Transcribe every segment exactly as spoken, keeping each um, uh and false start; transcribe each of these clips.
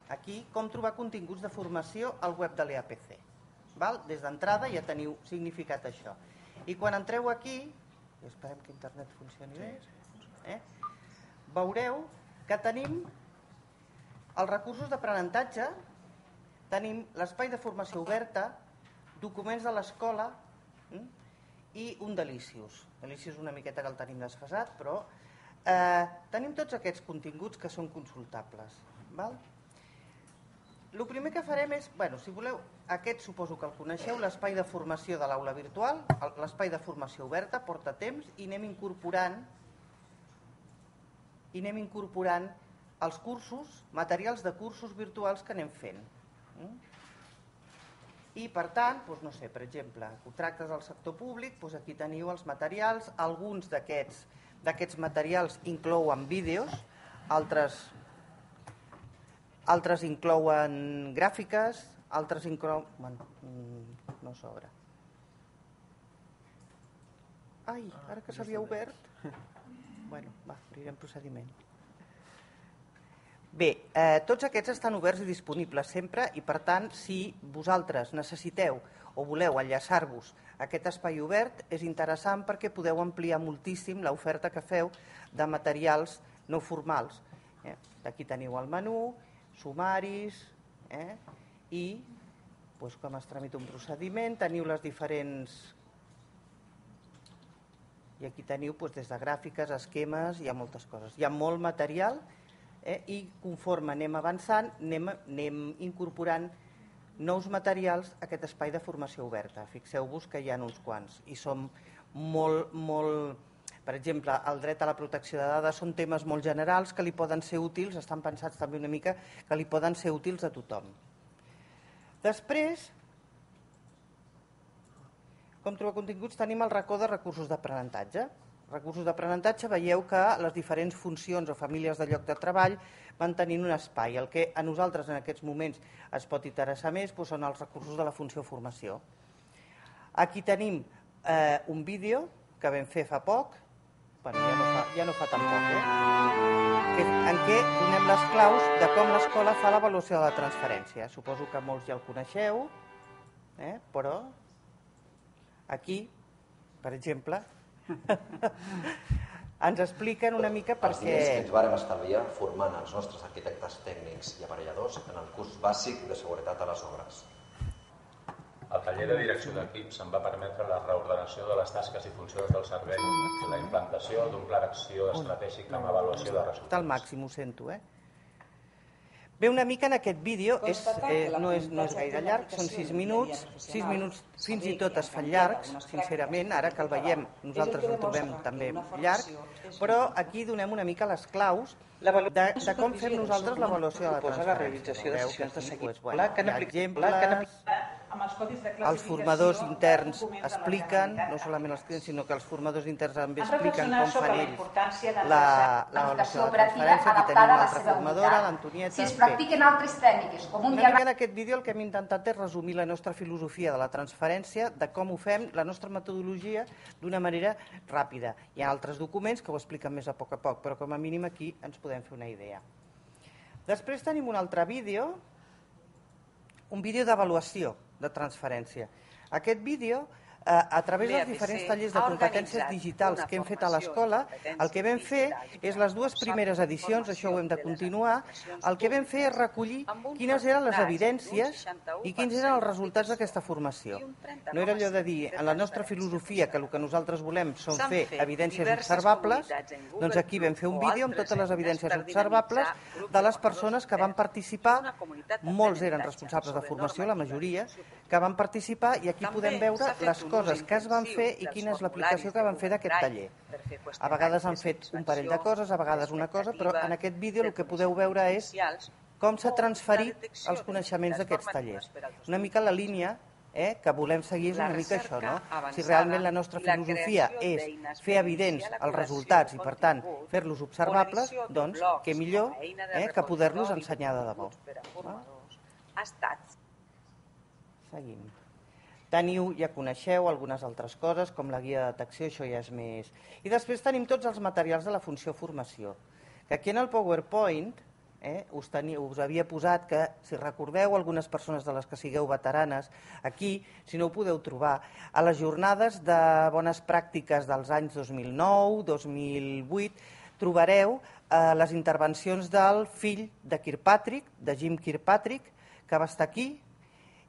aquí com trobar continguts de formació al web de l'E A P C. Des d'entrada ja teniu significat això. I quan entreu aquí, i esperem que internet funcioni bé, eh? veureu que tenim els recursos d'aprenentatge, tenim l'espai de formació oberta, documents de l'escola i un Delicious. Delicious una miqueta que el tenim desfasat, però eh, tenim tots aquests continguts que són consultables. Val? El primer que farem és, bueno, si voleu, aquest suposo que el coneixeu, l'espai de formació de l'aula virtual, l'espai de formació oberta, porta temps, i anem incorporant i anem incorporant els cursos, materials de cursos virtuals que anem fent. I, per tant, doncs, no sé, per exemple, contractes del sector públic, doncs aquí teniu els materials, alguns d'aquests materials inclouen vídeos, altres altres inclouen gràfiques, altres inclouen... Bueno, no s'obre. Ai, ara que s'havia obert... Bueno, va, obrirem procediment. Bé, eh, tots aquests estan oberts i disponibles sempre i, per tant, si vosaltres necessiteu o voleu enllaçar-vos a aquest espai obert, és interessant perquè podeu ampliar moltíssim l'oferta que feu de materials no formals. Eh? Aquí teniu el menú, sumaris, eh? i doncs, com es tramita un procediment, teniu les diferents... I aquí teniu doncs, des de gràfiques, esquemes, hi ha moltes coses. Hi ha molt material eh? i conforme anem avançant anem, anem incorporant nous materials a aquest espai de formació oberta. Fixeu-vos que hi ha uns quants i són molt, molt... Per exemple, el dret a la protecció de dades són temes molt generals que li poden ser útils, estan pensats també una mica que li poden ser útils a tothom. Després, com trobar continguts, tenim el racó de recursos d'aprenentatge. Recursos d'aprenentatge, veieu que les diferents funcions o famílies de lloc de treball van tenint un espai. El que a nosaltres en aquests moments es pot interessar més doncs són els recursos de la funció formació. Aquí tenim eh, un vídeo que vam fer fa poc, bueno, ja, no fa, ja no fa tan poc, eh? en què donem les claus de com l'escola fa l'avaluació de la transferència. Suposo que molts ja el coneixeu, eh? però aquí, per exemple, ens expliquen una mica per què... Els diners que ens vàrem estalviar formant els nostres arquitectes tècnics i aparelladors en el curs bàsic de seguretat a les obres. El taller de direcció d'equips em va permetre la reordenació de les tasques i funcions del servei i la implantació d'un pla d'acció estratègic amb avaluació de resultats. Al màxim, ho sento, eh? Bé, una mica en aquest vídeo, és, eh, no, és, no és gaire llarg, són sis minuts, sis minuts fins i tot es fan llargs, sincerament, ara que el veiem nosaltres el trobem també llarg, però aquí donem una mica les claus de, de com fem nosaltres l'avaluació de la transferència. La realització de sessions de seguiment. Hi ha exemples, els formadors interns expliquen, no solament els clients, sinó que els formadors interns també expliquen com fan ells l'avaluació de la transferència. Aquí tenim l'altra formadora, l'Antonieta. Practiquen altres tècniques. En aquest vídeo el que hem intentat és resumir la nostra filosofia de la transferència, de com ho fem, la nostra metodologia, d'una manera ràpida. Hi ha altres documents que ho expliquen més a poc a poc, però com a mínim aquí ens podem fer una idea. Després tenim un altre vídeo, un vídeo d'avaluació de transferència. Aquest vídeo, a través dels diferents tallers de competències digitals que hem fet a l'escola, el que vam fer és les dues primeres edicions, això ho hem de continuar, el que vam fer és recollir quines eren les evidències i quins eren els resultats d'aquesta formació. No era allò de dir, en la nostra filosofia, que el que nosaltres volem són fer evidències observables, doncs aquí vam fer un vídeo amb totes les evidències observables de les persones que van participar, molts eren responsables de formació, la majoria, que van participar, i aquí podem veure les coses que es van fer i quina és l'aplicació que van fer d'aquest taller. A vegades han fet un parell de coses, a vegades una cosa, però en aquest vídeo el que podeu veure és com s'ha transferit els coneixements d'aquests tallers. Una mica la línia eh, que volem seguir és una mica això, no? Si realment la nostra filosofia és fer evidents els resultats i, per tant, fer-los observables, doncs, què millor eh, que poder-los ensenyar de debò. Seguim. Teniu, ja coneixeu algunes altres coses, com la guia de detecció, això ja és més... I després tenim tots els materials de la funció formació, que aquí en el PowerPoint us havia posat que, si recordeu, algunes persones de les que sigueu veteranes, aquí, si no ho podeu trobar, a les jornades de bones pràctiques dels anys dos mil nou, dos mil vuit, trobareu les intervencions del fill de Kirkpatrick, de Jim Kirkpatrick, que va estar aquí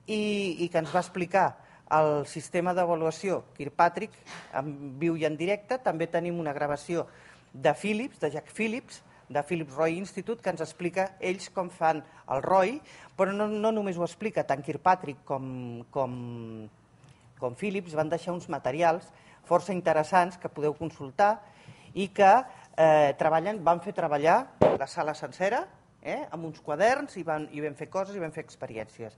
i que ens va explicar el sistema d'avaluació Kirkpatrick en viu i en directe. També tenim una gravació de Phillips, de Jack Phillips, de Phillips Roy Institute, que ens explica ells com fan el R O I, però no, no només ho explica tant Kirkpatrick com, com, com Phillips, van deixar uns materials força interessants que podeu consultar i que eh, treballen, van fer treballar la sala sencera eh, amb uns quaderns i van, i vam fer coses i vam fer experiències.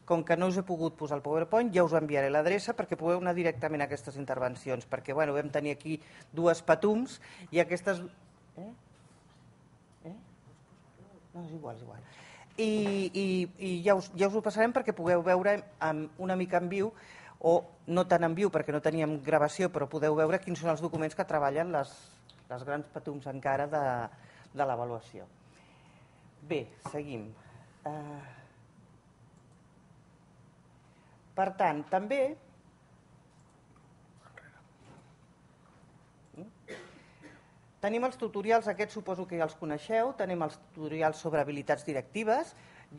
Com que no us he pogut posar el PowerPoint, ja us enviaré l'adreça perquè podeu anar directament a aquestes intervencions, perquè bueno, vam tenir aquí dues patums i aquestes... Eh? Eh? No, és igual, és igual. I, i, i ja, us, ja us ho passarem perquè pugueu veure una mica en viu, o no tan en viu perquè no teníem gravació, però podeu veure quins són els documents que treballen les, les grans patums encara de, de l'avaluació. Bé, seguim. Uh... Per tant, també tenim els tutorials, aquests suposo que ja els coneixeu, tenim els tutorials sobre habilitats directives.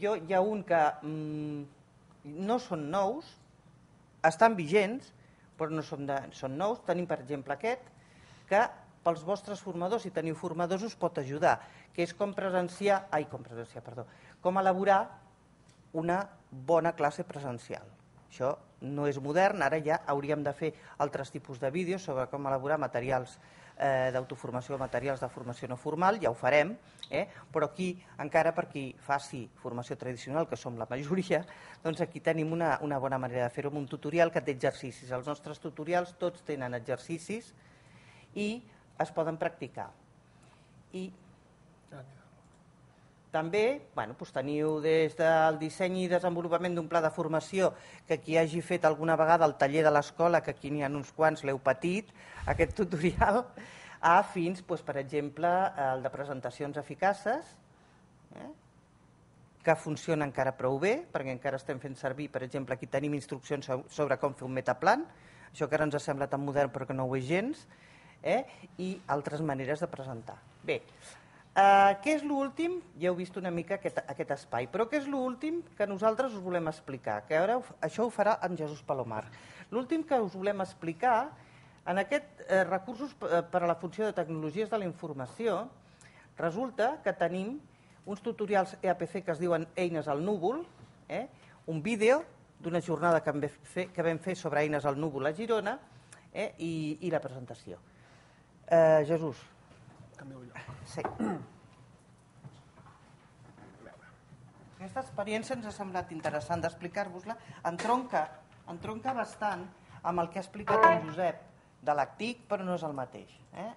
Jo, hi ha un que mmm, no són nous, estan vigents, però no són, de, són nous. Tenim, per exemple, aquest, que pels vostres formadors, si teniu formadors, us pot ajudar, que és com presenciar, ai, com presenciar, perdó, com elaborar una bona classe presencial. Això no és modern, ara ja hauríem de fer altres tipus de vídeos sobre com elaborar materials eh, d'autoformació, materials de formació no formal, ja ho farem, eh? Però aquí, encara per qui faci formació tradicional, que som la majoria, doncs aquí tenim una, una bona manera de fer-ho amb un tutorial que té exercicis. Els nostres tutorials tots tenen exercicis i es poden practicar. I també bueno, doncs teniu des del disseny i desenvolupament d'un pla de formació que qui hagi fet alguna vegada el taller de l'escola, que aquí n'hi ha uns quants, l'heu patit, aquest tutorial, a fins, doncs, per exemple, el de presentacions eficaces, eh, que funciona encara prou bé, perquè encara estem fent servir, per exemple, aquí tenim instruccions sobre com fer un metaplan, això que ara ens sembla tan modern però que no ho és gens, eh, i altres maneres de presentar. Bé, Uh, què és l'últim? Ja heu vist una mica aquest, aquest espai, però què és l'últim que nosaltres us volem explicar? Que ara això ho farà en Jesús Palomar. L'últim que us volem explicar, en aquests eh, recursos per a la funció de tecnologies de la informació, resulta que tenim uns tutorials E A P C que es diuen Eines al núvol, eh? un vídeo d'una jornada que vam, fer, que vam fer sobre eines al núvol a Girona eh? I, i la presentació. Uh, Jesús. Sí. Aquesta experiència ens ha semblat interessant d'explicar-vos-la. Entronca, entronca bastant amb el que ha explicat en Josep de l'A C T I C, però no és el mateix. Eh?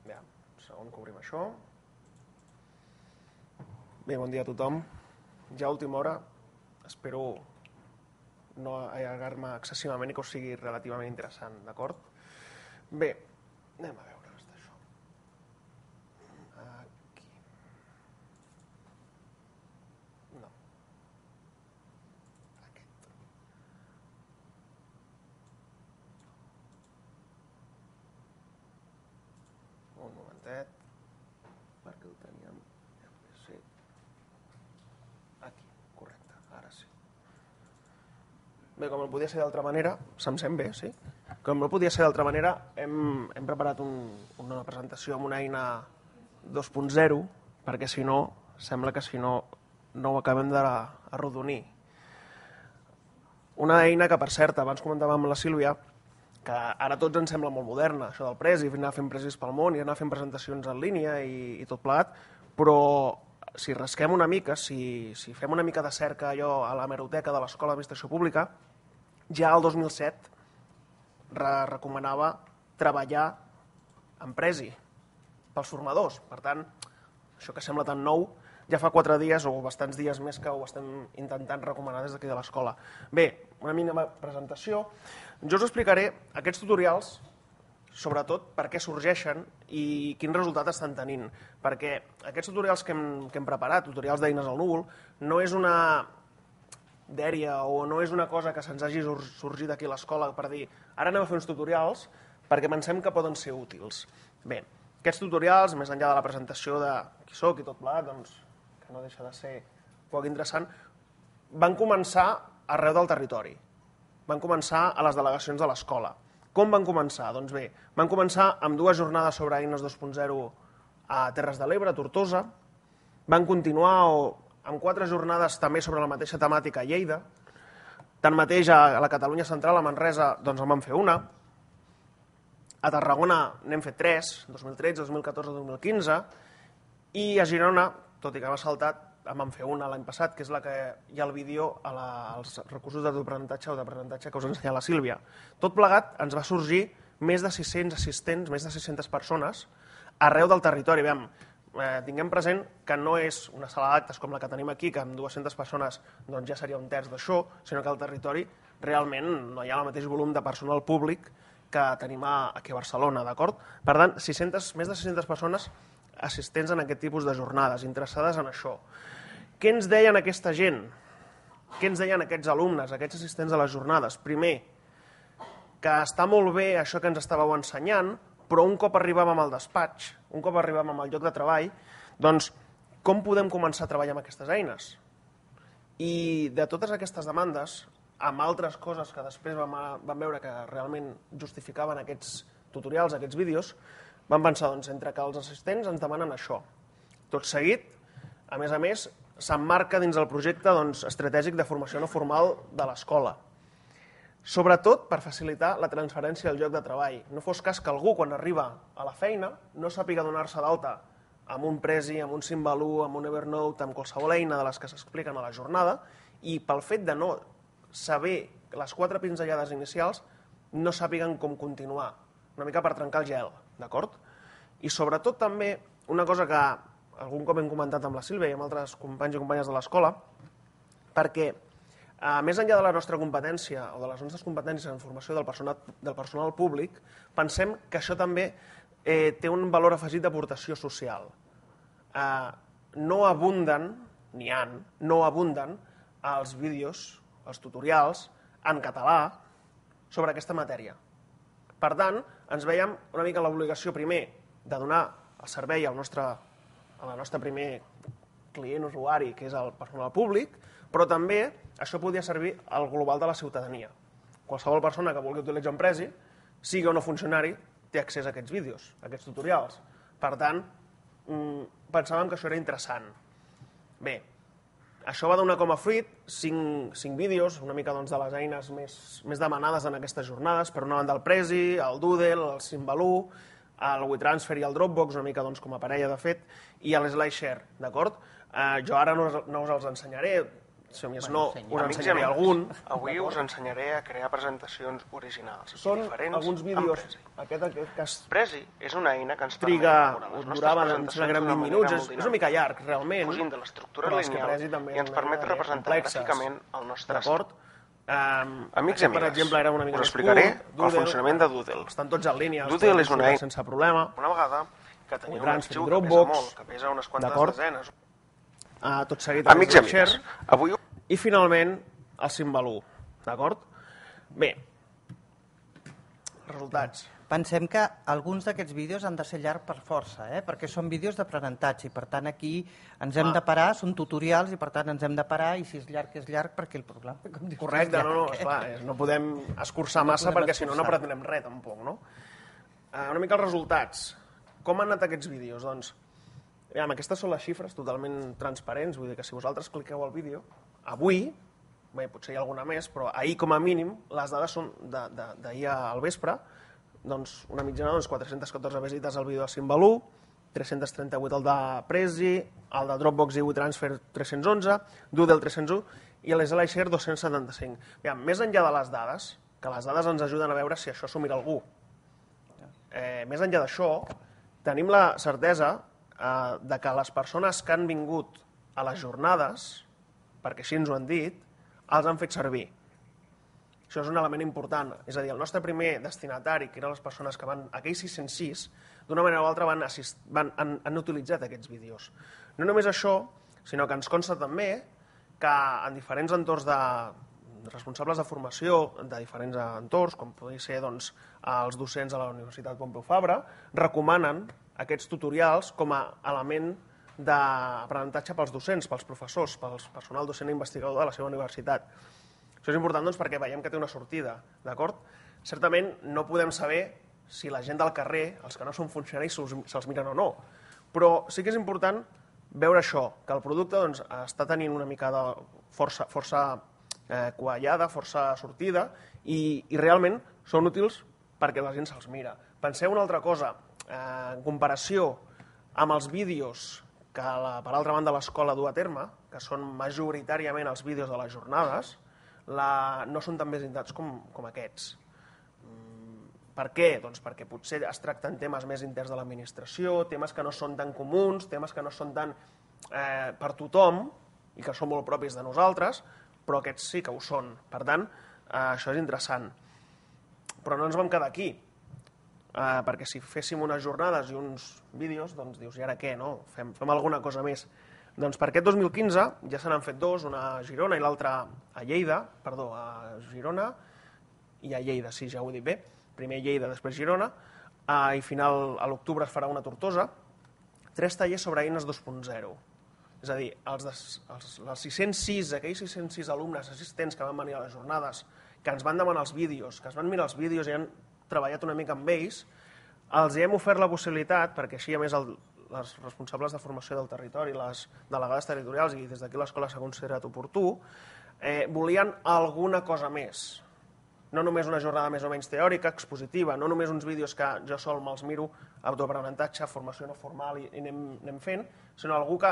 Bé, un segon que obrim això. Bé, bon dia a tothom. Ja a última hora, espero no allargar-me excessivament i que us sigui relativament interessant, d'acord? Bé, anem a veure. Perquè ho teníem sí. Aquí, correcte, ara sí. Bé, com no podia ser d'altra manera, se'm sent bé, sí? Com no podia ser d'altra manera, hem, hem preparat un, una presentació amb una eina dos punt zero, perquè si no, sembla que si no, no ho acabem d'arrodonir. Una eina que, per cert, abans comentàvem amb la Sílvia, que ara tots ens sembla molt moderna, això del Prezi, anar fent presis pel món i anar fent presentacions en línia i, i tot plegat, però si rasquem una mica, si, si fem una mica de cerca allò a l'hemeroteca de l'Escola d'Administració Pública, ja el dos mil set re recomanava treballar en Prezi pels formadors. Per tant, això que sembla tan nou, ja fa quatre dies o bastants dies més que ho estem intentant recomanar des d'aquí de l'escola. Bé, una mínima presentació. Jo us explicaré, aquests tutorials sobretot per què sorgeixen i quin resultat estan tenint. Perquè aquests tutorials que hem, que hem preparat, tutorials d'eines al núvol, no és una dèria o no és una cosa que se'ns hagi sorgit aquí a l'escola per dir ara anem a fer uns tutorials perquè pensem que poden ser útils. Bé, aquests tutorials, més enllà de la presentació de qui soc i tot plegat, doncs, que no deixa de ser poc interessant, van començar arreu del territori. Van començar a les delegacions de l'escola. Com van començar? Doncs bé, van començar amb dues jornades sobre eines dos punt zero a Terres de l'Ebre, a Tortosa. Van continuar amb quatre jornades també sobre la mateixa temàtica a Lleida. Tanmateix, a la Catalunya Central, a Manresa, doncs en van fer una. A Tarragona n'hem fet tres, dos mil tretze, dos mil catorze, dos mil quinze. I a Girona, tot i que m'ha saltat, en vam fer una l'any passat, que és la que hi ha el vídeo a la, als recursos d'aprenentatge o d'aprenentatge que us ensenya la Sílvia. Tot plegat ens va sorgir més de sis-cents assistents, més de sis-centes persones, arreu del territori. Veiem, eh, tinguem present que no és una sala d'actes com la que tenim aquí, que amb dues-centes persones doncs, ja seria un terç d'això, sinó que al territori realment no hi ha el mateix volum de personal públic que tenim aquí a Barcelona, d'acord? Per tant, sis-centes, més de sis-centes persones assistents en aquest tipus de jornades, interessades en això. Què ens deien aquesta gent? Què ens deien aquests alumnes, aquests assistents a les jornades? Primer, que està molt bé això que ens estàveu ensenyant, però un cop arribàvem al despatx, un cop arribàvem al lloc de treball, doncs com podem començar a treballar amb aquestes eines? I de totes aquestes demandes, amb altres coses que després vam, vam veure que realment justificaven aquests tutorials, aquests vídeos, vam pensar, doncs, entre que els assistents ens demanen això. Tot seguit, a més a més, s'emmarca dins el projecte doncs, estratègic de formació no formal de l'escola. Sobretot per facilitar la transferència al lloc de treball. No fos cas que algú, quan arriba a la feina, no sàpiga donar-se d'alta amb un Prezi, amb un Simbaloo, amb un Evernote, amb qualsevol eina de les que s'expliquen a la jornada, i pel fet de no saber les quatre pinzellades inicials, no sàpiguen com continuar, una mica per trencar el gel, d'acord? I sobretot també, una cosa que algun cop hem comentat amb la Sílvia i amb altres companys i companyes de l'escola, perquè eh, més enllà de la nostra competència o de les nostres competències en formació del personal, del personal públic, pensem que això també eh, té un valor afegit d'aportació social. Eh, no abunden, n'hi ha, no abunden els vídeos, els tutorials en català sobre aquesta matèria. Per tant, ens veiem una mica l'obligació primer de donar el servei al nostre a la nostra primer client usuari, que és el personal públic, però també això podria servir al global de la ciutadania. Qualsevol persona que vulgui utilitzar un Prezi, sigui o no funcionari, té accés a aquests vídeos, a aquests tutorials. Per tant, pensàvem que això era interessant. Bé, això va donar com a fruit cinc, cinc vídeos, una mica doncs, de les eines més, més demanades en aquestes jornades, per una banda el Prezi, el Doodle, el Simbaloo, el WeTransfer i el Dropbox, una mica doncs, com a parella de fet, i el SlideShare, d'acord? Eh, jo ara no, no us els ensenyaré, si més no, us ensenyaré algun. Avui us ensenyaré a crear presentacions originals. Són alguns vídeos. Aquest, aquest que es Prezi és una eina que ens triga, durava doncs, vint minuts, és, és una mica llarg, realment, fugint de l'estructura lineal i ens permet representar gràficament el nostre d'acord? Um, Amics i amigues, per una mica us explicaré curt, el funcionament de Doodle. Estan tots en línia, Doodle és una eina sense problema. Una vegada que teniu un arxiu que Dropbox, pesa molt, que pesa unes quantes desenes. Uh, tot seguit Amics i amigues, avui... I finalment el Simbaloo, d'acord? Bé, resultats. Pensem que alguns d'aquests vídeos han de ser llargs per força, eh? Perquè són vídeos d'aprenentatge i per tant aquí ens hem ah. de parar, són tutorials i per tant ens hem de parar i si és llarg és llarg perquè el problema... Com dius, correcte, no, no, esclar, no podem escurçar no massa perquè si no no aprenem res tampoc, no? Uh, una mica els resultats. Com han anat aquests vídeos? Doncs, veiem, aquestes són les xifres totalment transparents, vull dir que si vosaltres cliqueu al vídeo, avui, bé, potser hi ha alguna més, però ahir com a mínim les dades són d'ahir al vespre, doncs una mitjana doncs, quatre-centes catorze visites al vídeo de Simbaloo, tres-cents trenta-vuit el de Prezi, el de Dropbox i WeTransfer tres-cents onze, Doodle tres-cents u i l'SlideShare dos-cents setanta-cinc. Aviam, més enllà de les dades, que les dades ens ajuden a veure si això s'ho mira algú. Eh, més enllà d'això, tenim la certesa eh, de que les persones que han vingut a les jornades, perquè així ens ho han dit, els han fet servir. Això és un element important. És a dir, el nostre primer destinatari, que eren les persones que van, aquells sis-cents sis, d'una manera o altra van, assist, van han, han utilitzat aquests vídeos. No només això, sinó que ens consta també que en diferents entorns de responsables de formació, de diferents entorns, com podria ser doncs, els docents de la Universitat Pompeu Fabra, recomanen aquests tutorials com a element d'aprenentatge pels docents, pels professors, pel personal docent i investigador de la seva universitat. Això és important doncs, perquè veiem que té una sortida, d'acord? Certament no podem saber si la gent del carrer, els que no són funcionaris, se'ls miren o no, però sí que és important veure això, que el producte doncs, està tenint una mica de força, força eh, quallada, força sortida, i, i realment són útils perquè la gent se'ls mira. Penseu una altra cosa, eh, en comparació amb els vídeos que la, per altra banda l'escola du a terme, que són majoritàriament els vídeos de les jornades, la, no són tan visitats com, com aquests. Per què? Doncs perquè potser es tracten temes més interns de l'administració, temes que no són tan comuns, temes que no són tan eh, per tothom i que són molt propis de nosaltres, però aquests sí que ho són. Per tant, eh, això és interessant. Però no ens vam quedar aquí, eh, perquè si féssim unes jornades i uns vídeos, doncs dius, i ara què, no? Fem, fem alguna cosa més. Doncs per aquest dos mil quinze ja se n'han fet dos, una a Girona i l'altra a Lleida, perdó, a Girona i a Lleida, sí, ja ho he dit bé, primer Lleida, després Girona, eh, i final a l'octubre es farà una a Tortosa, tres tallers sobre eines dos punt zero. És a dir, els, de, els, els sis-cents sis, aquells sis-cents sis alumnes assistents que van venir a les jornades, que ens van demanar els vídeos, que es van mirar els vídeos i han treballat una mica amb ells, els hem ofert la possibilitat, perquè així a més el, les responsables de formació del territori, les delegades territorials, i des d'aquí l'escola s'ha considerat oportú, eh, volien alguna cosa més. No només una jornada més o menys teòrica, expositiva, no només uns vídeos que jo sol me'ls miro, autoaprenentatge, formació no formal i, i anem, anem fent, sinó algú que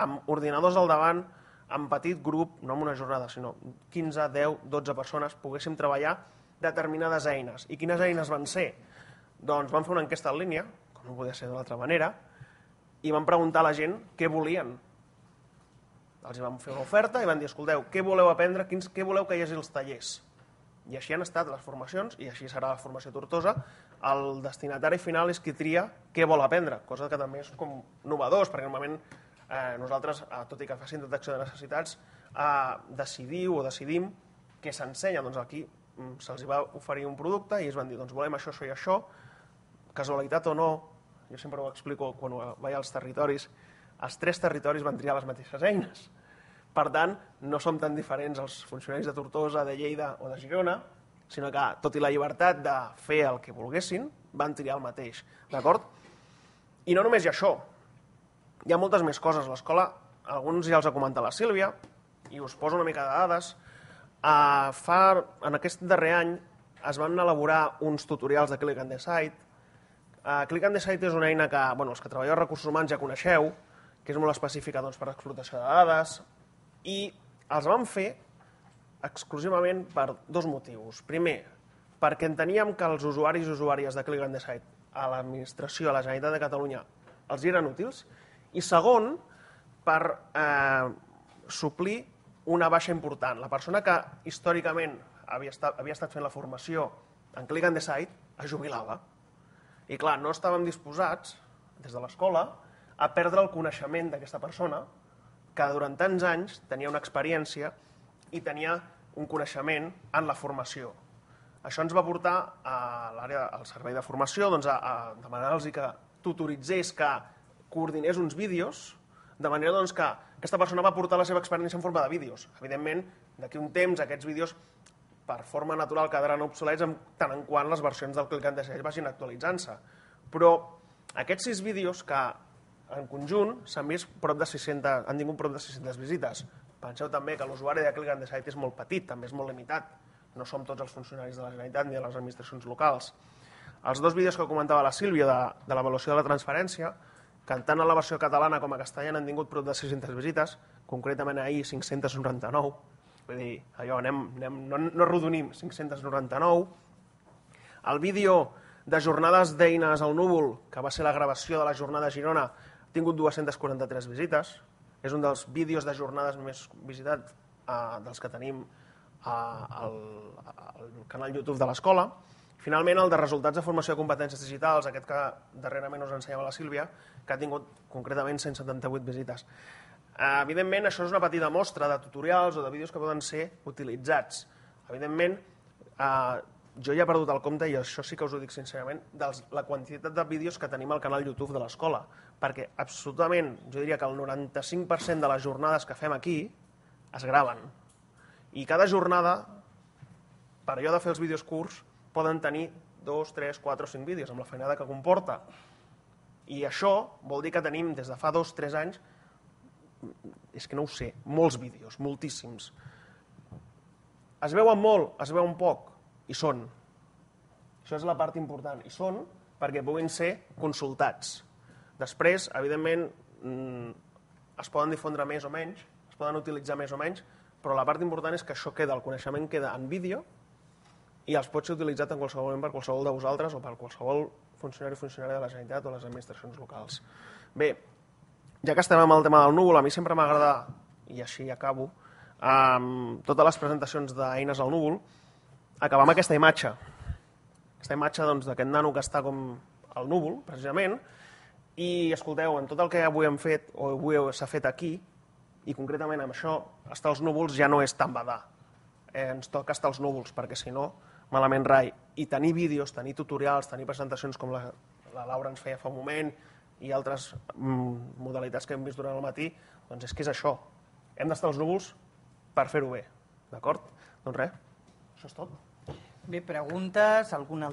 amb ordinadors al davant, en petit grup, no en una jornada, sinó quinze, deu, dotze persones, poguéssim treballar determinades eines. I quines eines van ser? Doncs vam fer una enquesta en línia, com no podia ser d'una altra manera, i vam preguntar a la gent què volien. Els vam fer una oferta i van dir, escolteu, què voleu aprendre, quins, què voleu que hi hagi als tallers? I així han estat les formacions, i així serà la formació a Tortosa. El destinatari final és qui tria què vol aprendre, cosa que també és com novedós, perquè normalment eh, nosaltres, eh, tot i que facin detecció de necessitats, eh, decidiu o decidim què s'ensenya. Doncs aquí mm, se'ls va oferir un producte i es van dir, doncs volem això, això i això, casualitat o no, jo sempre ho explico quan vaig als territoris, els tres territoris van triar les mateixes eines. Per tant, no som tan diferents els funcionaris de Tortosa, de Lleida o de Girona, sinó que, tot i la llibertat de fer el que volguessin, van triar el mateix. D'acord? I no només hi ha això. Hi ha moltes més coses. L'escola, alguns ja els ha comentat la Sílvia, i us poso una mica de dades. Uh, fa, en aquest darrer any es van elaborar uns tutorials de Click and Decide. Uh, Click and Decide és una eina que bueno, els que treballeu a recursos humans ja coneixeu, que és molt específica doncs, per l'explotació de dades, i els vam fer exclusivament per dos motius. Primer, perquè enteníem que els usuaris i usuàries de Click and Decide a l'administració, a la Generalitat de Catalunya, els eren útils. I segon, per eh, suplir una baixa important. La persona que històricament havia estat, havia estat fent la formació en Click and Decide es jubilava. I clar, no estàvem disposats, des de l'escola, a perdre el coneixement d'aquesta persona que durant tants anys tenia una experiència i tenia un coneixement en la formació. Això ens va portar a l'àrea, al servei de formació doncs a, a demanar-los que tutoritzés, que coordinés uns vídeos, de manera doncs, que aquesta persona va portar la seva experiència en forma de vídeos. Evidentment, d'aquí un temps, aquests vídeos, per forma natural, quedaran obsolets en tant en quant les versions del Click and Decide vagin actualitzant-se. Però aquests sis vídeos que en conjunt s'han vist prop de sis-centes, han tingut prop de sis-centes visites. Penseu també que l'usuari de Click and Decide és molt petit, també és molt limitat. No som tots els funcionaris de la Generalitat ni de les administracions locals. Els dos vídeos que comentava la Sílvia de, de l'avaluació de la transferència, que tant en la versió catalana com a castellana han tingut prop de sis-centes visites, concretament ahir cinc-centes noranta-nou, vull dir, allò, anem, anem, no, no arrodonim, cinc-centes noranta-nou. El vídeo de jornades d'eines al núvol, que va ser la gravació de la jornada a Girona, ha tingut dues-centes quaranta-tres visites. És un dels vídeos de jornades més visitats eh, dels que tenim al canal YouTube de l'escola. Finalment, el de resultats de formació de competències digitals, aquest que darrerament us ensenyava la Sílvia, que ha tingut concretament cent setanta-vuit visites. Evidentment, això és una petita mostra de tutorials o de vídeos que poden ser utilitzats. Evidentment, jo ja he perdut el compte, i això sí que us ho dic sincerament, de la quantitat de vídeos que tenim al canal YouTube de l'escola, perquè absolutament, jo diria que el noranta-cinc per cent de les jornades que fem aquí es graven. I cada jornada, per allò de fer els vídeos curts, poden tenir dos, tres, quatre o cinc vídeos, amb la feinada que comporta. I això vol dir que tenim, des de fa dos o tres anys, és que no ho sé, molts vídeos, moltíssims. Es veuen molt, es veuen poc, i són. Això és la part important, i són perquè puguin ser consultats. Després, evidentment, es poden difondre més o menys, es poden utilitzar més o menys, però la part important és que això queda, el coneixement queda en vídeo, i els pot ser utilitzat en qualsevol moment per qualsevol de vosaltres o per qualsevol funcionari o funcionària de la Generalitat o les administracions locals. Bé, ja que estem amb el tema del núvol, a mi sempre m'agrada, i així acabo, amb totes les presentacions d'eines al núvol, acabar amb aquesta imatge. Aquesta imatge d'aquest nano que està com al núvol, precisament, i escolteu, en tot el que avui hem fet, o avui s'ha fet aquí, i concretament amb això, estar als núvols ja no és tan badar. Ens toca estar als núvols, perquè si no, malament rai. I tenir vídeos, tenir tutorials, tenir presentacions com la Laura ens feia fa un moment i altres modalitats que hem vist durant el matí, doncs és que és això. Hem d'estar als núvols per fer-ho bé, d'acord? Doncs res, això és tot. Bé, preguntes, alguna